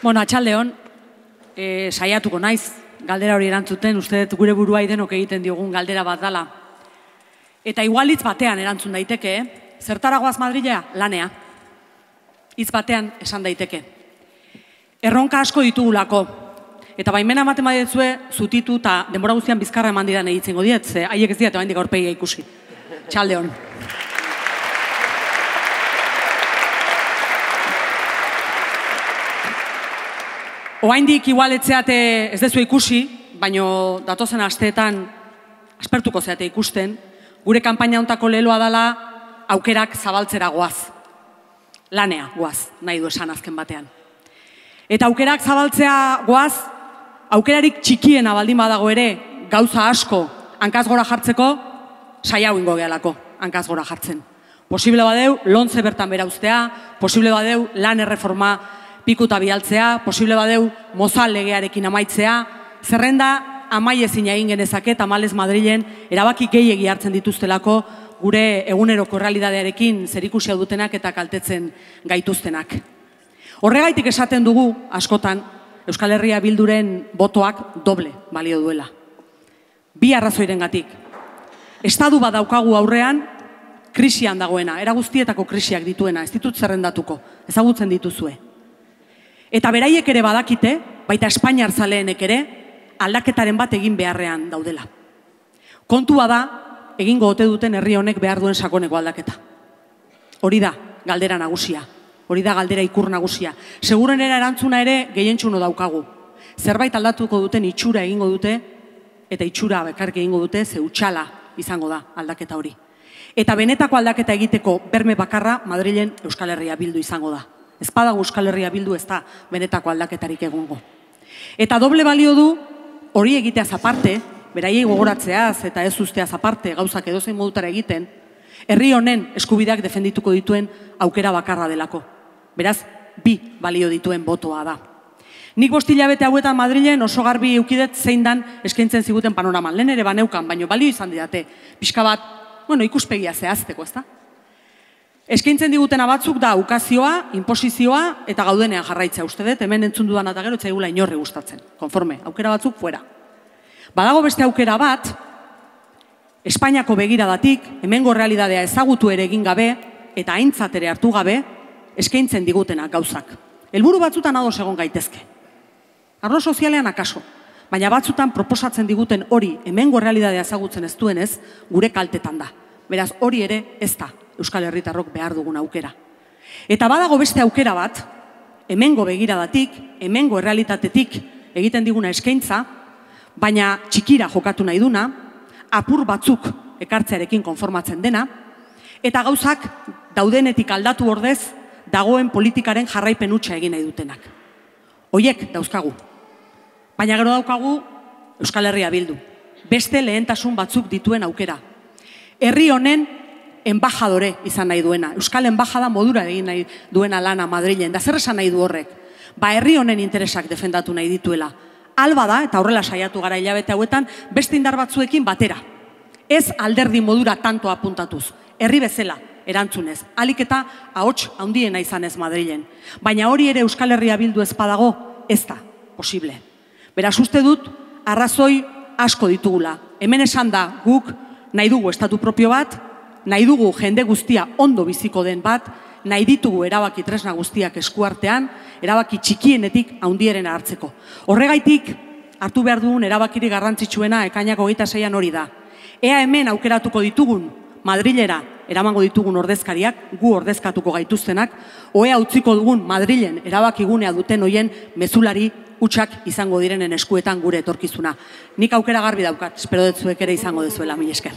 Bueno, atxaldeon, saiatuko naiz, galdera hori erantzuten, uste dut gure burua idenok egiten diogun galdera bat dala. Eta igualitz batean erantzun daiteke, zertaragoaz Madrilea? Lanea. Hitz batean esan daiteke. Erronka asko ditugulako. Eta baimena ematen badietzue, zutitu eta denbora guztian bizkarra eman didan egitzengo diet, ze haiek ez diat oraindik aurpegia ikusi. Txaldeon. Oraindik igualetzeate ez dezu ikusi, baino datozen asteetan aspertuko zeate ikusten, gure kanpaina hontako leloa dela aukerak zabaltzera goaz. Lanea goaz, nahi du esan azken batean. Eta aukerak zabaltzea goaz, aukerarik txikiena baldin badago ere, gauza asko hankaz gora jartzeko, saia ingo gehalako hankaz gora jartzen. Posible badeu, lontze bertan bera uztea, posible badeu, lan erreforma pikuta bialtzea, posible badeu, mozal legearekin amaitzea, zerrenda amaiezin egin genezake, tamalez Madrilen erabaki gehiegi hartzen dituztelako gure eguneroko errealitatearekin zerikusia dutenak eta kaltetzen gaituztenak. Horregaitik esaten dugu, askotan, Euskal Herria Bilduren botoak doble balio duela. Bi arrazoirengatik. Estadu bat daukagu aurrean, krisian dagoena, era guztietako krisiak dituena, ez ditut zerrendatuko, ezagutzen dituzue. Eta beraiek ere badakite, baita Espainiar zaleenek ere, aldaketaren bat egin beharrean daudela. Kontua da, egingo ote duten herri honek behar duen sakoneko aldaketa. Hori da, galdera nagusia. Hori da galdera ikur nagusia. Segurenera erantzuna ere gehientsuno daukagu. Zerbait aldatuko duten itxura egingo dute, eta itxura bekarrik egingo dute, ze utxala izango da aldaketa hori. Eta benetako aldaketa egiteko berme bakarra Madrilen Euskal Herria Bildu izango da. Ez badago Euskal Herria Bildu ez da benetako aldaketarik egongo. Eta doble balio du hori egiteaz aparte, beraiei gogoratzeaz eta ez usteaz aparte gauzak edozein modutara egiten, herri honen eskubideak defendituko dituen aukera bakarra delako. Beraz, bi balio dituen botoa da. Nik 5 hilabete hauetan Madrilen oso garbi eukidet zein dan eskaintzen ziguten panoraman. Lehen ere baneukan, baino balio izan didate. Pixka bat, ikuspegia zehazteko, ez da? Eskaintzen digutena batzuk da ukazioa, inposizioa eta gaudenean jarraitzea. Uste dut, hemen entzun dudan eta gero etzaigula inorri gustatzen. Konforme, aukera batzuk fuera. Badago beste aukera bat, Espainiako begiradatik, hemengo realitatea ezagutu ere egin gabe eta aintzat ere hartu gabe, eskaintzen digutenak gauzak. Helburu batzutan ados egon gaitezke. Arlo sozialean akaso, baina batzutan proposatzen diguten hori hemengo realitatea ezagutzen ez duenez, gure kaltetan da. Beraz, hori ere ez da Euskal Herritarrok behar dugun aukera. Eta badago beste aukera bat, hemengo begiradatik, hemengo errealitatetik egiten diguna eskaintza, baina txikira jokatu nahi duna, apur batzuk ekartzearekin konformatzen dena, eta gauzak daudenetik aldatu ordez, dagoen politikaren jarraipen hutsa egin nahi dutenak. Hoiek dauzkagu. Baina gero daukagu Euskal Herria Bildu. Beste lehentasun batzuk dituen aukera. Herri honen embajadore izan nahi duena. Euskal embajada modura egin nahi duena lana Madrilen. Da zer esan nahi du horrek? Herri honen interesak defendatu nahi dituela. Alba da, eta horrela saiatu gara hilabete hauetan, beste indar batzuekin batera. Ez alderdi modura tanto apuntatuz. Herri bezala, erantzunez. Alik eta ahots handiena izanez Madrilen. Baina hori ere Euskal Herria Bildu ez badago, ez da posible. Beraz uste dut, arrazoi asko ditugula. Hemen esan da guk nahi dugu estatu propio bat, nahi dugu jende guztia ondo biziko den bat, nahi ditugu erabaki tresna guztiak eskuartean, erabaki txikienetik handieren hartzeko. Horregaitik, hartu behar dugun erabakiri garrantzitsuena ekainak 26an hori da. Ea hemen aukeratuko ditugun, Madrilera eramango ditugun ordezkariak, gu ordezkatuko gaituztenak, oea utziko dugun Madrilen erabakigunea duten hoien mezulari hutsak izango direnen eskuetan gure etorkizuna. Nik aukera garbi daukat, espero dut zuek ere izango dezuela, mila esker.